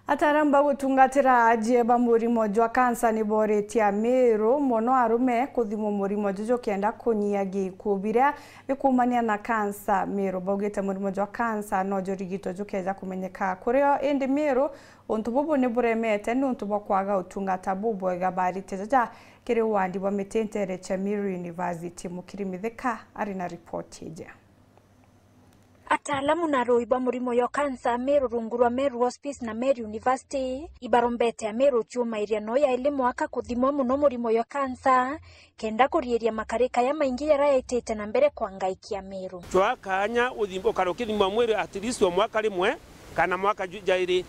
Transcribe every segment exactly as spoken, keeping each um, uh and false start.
Ataaramu ba gutungatira aajie ba murimo jwa kansa ni booritie Amiru mono arume kuthimwa murimo juju kenda kunyia gikuu biria bikumania na kansa. Miru baugite murimo jwa kansa no jurigitwe jukeeja kumenyeka kurio, indi Miru untu bubu ni buremete niuntu bwa kwaga utungata bubwega. Baaritie jaja kiri wandi bwa Miti nteere cia Miru University. Mukiri Mithika ari na ripoti iji. Ataalamu na arui ba murimo yo kansa Meru rungu rwa Meru Hospice na Meru University ibarombete Ameru ciumairia no yaili mwaka kuthimwa mono murimo yo kansa, kenda kuriiria makarika ya maingi jaria jaitite na mbere kwa ngai kia Meru. Cwaa kaanya uthim-, ukare ukithimwa mwiri at least o mwaka rimwe kana mwaka ju-, jairi.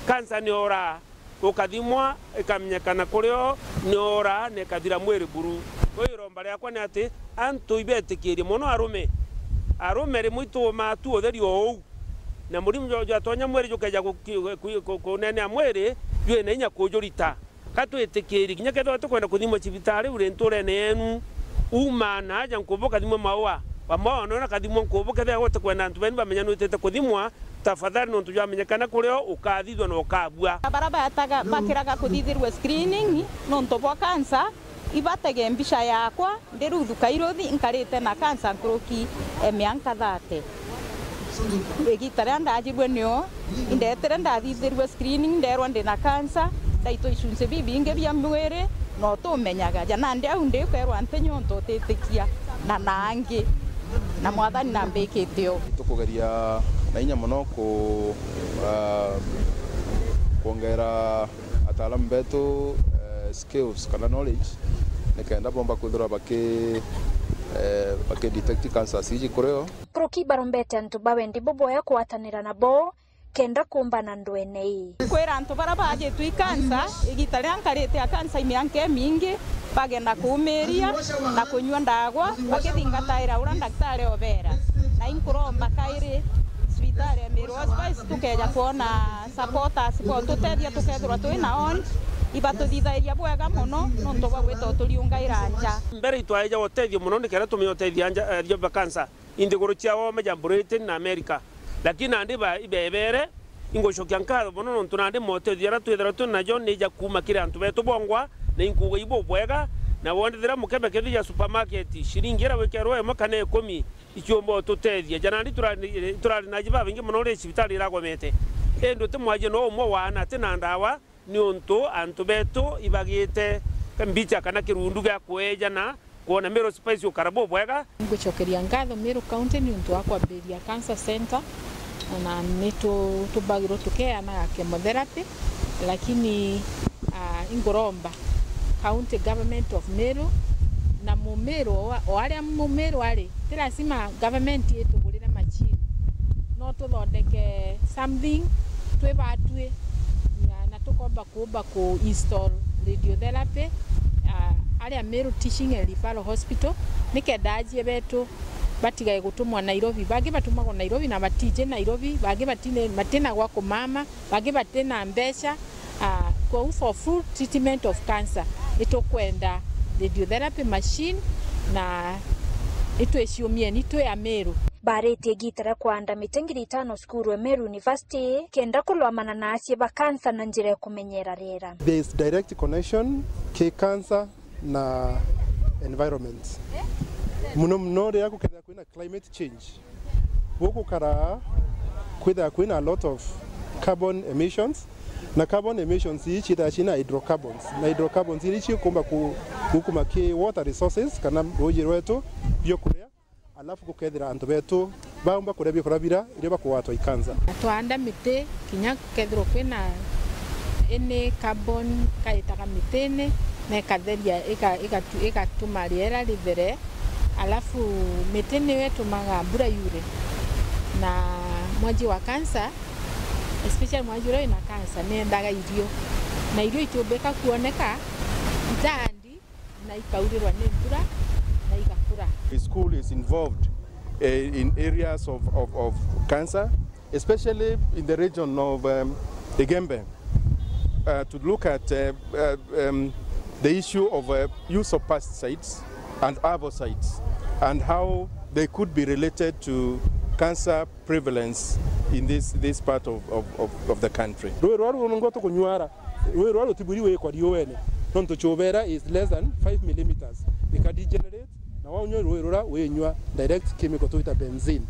Kansa ni oraa. Ukathimwa, ikamenyekana kurio ni oora na ikathira mwiri buru. Kwou iromba riakwa ni ati antu ibetikirie mono arume. Arume rimwe ituumaa tu utheri o uu, na murimo jwa, jwatonya mwiri jukeeja ku-, ku-, ku-, ku-, kunenea mwiri jwina inya kujurita. Ka twitikirie, kinya kethirwa tukwenda kuthimwa cibitari uri nturene yenu, umaa na aja nkubu kathimwa maua, wa maua nona kathimwa nkubu, kethirwa utikwenda antu benu bamenya nwitite kuthimwa, tafadhali, nontu jwamenyekana kurio ukathithwa na ukabua. Bara bataga-, bakiraga kuthithirua screening nontu bwa kansa, ibatege mbica yakwa ndi Ruth Kairuthi, nkarite na kansa nkuruki e mianka thate. Igita riria ndajibue nio indetire ndathithirue screening, nderwa ndi na kansa, ndaitwa icunci bibingi bia mwiri, na utumenyaga. Ja nandi au ndi ukerwa nti nyonto utitikia, na na angi. Na Mwathani nambikite uu. Tukugeria na inya mono ku-, ah, kwongera ataalamu betu, eh, skills kana knowledge, nikenda bomba kwithirwa baki-, eh, baki detect cancers iji kurio. Nkuruki ibarombete antu ba wendi bubwega kugwatanira nabo, kenda kuumbana ndwene ii. Kwira antu baria baajitwe i kansa, igita riria nkarite a kansa i mianka imingi, bagenda kuumiria na kunyua ndagwa, bakithingataira uria ndagitari obeera. Na inkuromba kairi cibitari ya Meru Hospice tukeeja kwona supporters botutethia tukethirwa twi na ward, ibatuthithairia bwega mono nontu bwa gwita uturiungaira nja. Mbere itwaeja utethio mono nikenda tumenya utethia nja, eh, ria kansa. Inthiguru cia oome ja Britain na America. Lakini nandi ba-, ibebere, ingucokia nkatho mono nontu nandi motethio jaria twithirwa twi najo ni ja kuuma kiri antu betu bongwa, na inkuuga ibubwega, na wondithira mukebe kethi ja supermarket, ciringi iria wikerwa imwe kana ikumi, ichiumba ututethia. Ja nandi turari, turari na aji babaingi mono ri cibitari iragomete. Indi uti mwajie no umwe waana ati na ndawa, niuntu antu betu ibagite mbicha kana kirundu gia kuejana kwona Meru Hospice ukara bubwega. Ngucokeria ngatho Meru County niuntu wa kwambiria cancer center, na ni tu-, tubagirwo tukeanaga chemotherapy, lakini, ah, inguromba County Government of Meru na Mumiru o, o aria Mumiru ari, ti lazima government itugurire machine. No tuthondeke something twi batwi, na, na tukomba kuumba ku install radiotherapy, ah, aria Meru Teaching and Referral Hospital, nikenda ajie betu batigae gutumwa Nairobi. Bangi batumagwa Nairobi na batiji Nairobi, bangi batine-, batina gwa kumama, bangi batina mbeca. Ah, kwou for full treatment of cancer, itukwenda radiotherapy machine na itwiciumieni twi Ameru. Baritie igita ria kwanda miti ngiri itano cukuru e Meru University kenda kulwamana na acie ba cancer na njira ya kumenyera riera. There is direct connection ki cancer na environment. Muno muno riria gukethira kwina climate change, gukukara kwithira kwina a lot of carbon emissions, na carbon emissions ii ciithira ciina hydrocarbons, na hydrocarbons iri cikumba ku-, gukuma ki water resources kana ruuji rwetu, biokuria, alafu gukethira antu betu baumba kuria biokuria bira irio bakugwatwa i cancer. Twaanda miti, kinya kethirwa kwina any carbon kaitaga mitini, na ikatheria, ika-, igatu-, igatuma riera rithere. Alafu miti niyo itumaga mbura yure, na mwanji wa cancer, especially mwanji uria wina cancer, niendaga irio, na irio itiumbika kuoneka, itaandi, na ikaurirwa ni mbura, na igakura. The school is involved, eh, in areas of, of, of cancer, especially in the region of, um, Igembe, uh, to look at, uh, uh, um, the issue of, uh, use of pesticides and herbicides and how they could be related to cancer prevalence in this, this part of, of, of, of the country. Rui rwa rungwa tukunywara, rui rwa rutibwiri wikwa riuene, nontu chubera is less than five millimeters. Ika degenerate, na waunywa rui rura winywa direct chemical twita benzene.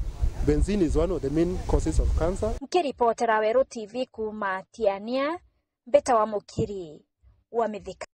Benzene is one of the main causes of cancer. Nkiripotera Weru T V kuuma Tiania, Mbita wa Mukiri wa Mithika.